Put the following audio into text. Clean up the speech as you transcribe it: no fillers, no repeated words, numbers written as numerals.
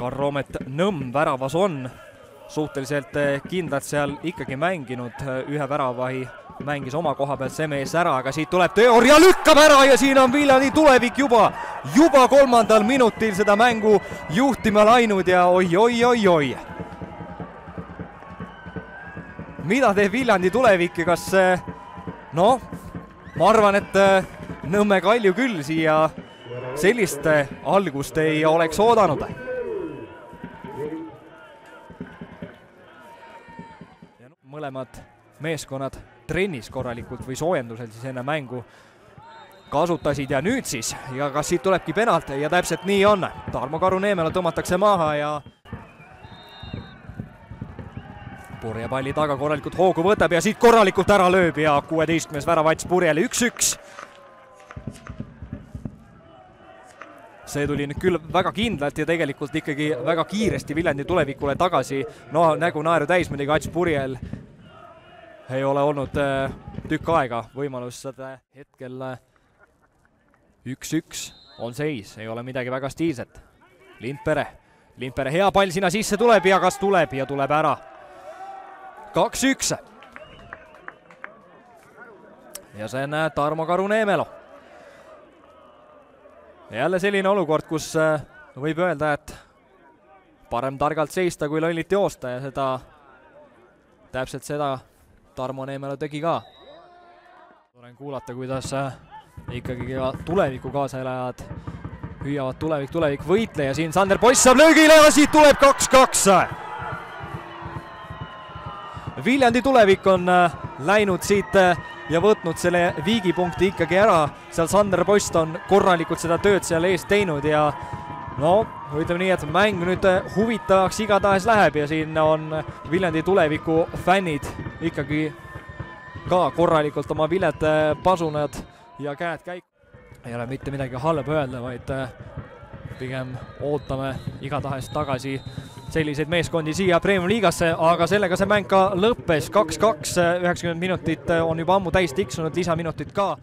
Karl-Roomet Nõmm väravas on suhteliselt kindlalt seal ikkagi mänginud, ühe väravahi mängis oma koha pealt see mees ära, aga siit tuleb teooria, lükkab ära ja siin on Viljandi tulevik juba 3. minutil seda mängu juhtima läinud ja oi. Mida teeb Viljandi tulevik ja kas noh, ma arvan, et Nõmme Kalju küll siia sellist algust ei oleks oodanud. Mõlemad meeskonnad trennis korralikult või soojendusel siis enne mängu kasutasid ja nüüd siis, ja kas siit tulebki penalt ja täpselt nii on. Tarmo Karu-Neemela tõmmatakse maha ja Purje palli taga korralikult hoogu võtab ja siit korralikult ära lööb ja 16. väravats Purjele 1-1. See tuli nüüd küll väga kindlalt ja tegelikult ikkagi väga kiiresti Viljandi tulevikule tagasi. No nägu naeru täis muidugi Ats Purjel ei ole olnud tükk aega võimalus seda hetkel 1-1 on seis, ei ole midagi väga stiilset. Lindpere hea pall sinna sisse tuleb ja kas tuleb ja tuleb ära. 2-1. Ja see on Tarmo Karu-Neemelo. Jälle selline olukord, kus võib öelda, et parem targalt seista kui lollit joosta ja seda täpselt seda Tarmo Neemelo tegi ka. Olen kuulata, kuidas ikkagi ka tuleviku kaasaelajad hüüavad tulevik võitle ja siin Sander Poiss saab löögile ja siit tuleb 2-2. Viljandi tulevik on läinud siit ja võtnud selle viigipunkti ikkagi ära. Seal Sander Poiss on korralikult seda tööd seal ees teinud ja no, ütleme nii, et mäng nüüd huvitavaks igatahes läheb ja siin on Viljandi tuleviku fännid ikkagi ka korralikult oma viled pasunad ja käed käik. Ei ole mitte midagi halba öelda, vaid pigem ootame igatahes tagasi selliseid meeskondi siia Premium liigasse, aga sellega see mäng ka lõppes 2-2, 90 minutit on juba ammu täis tiksunud, lisaminutid ka.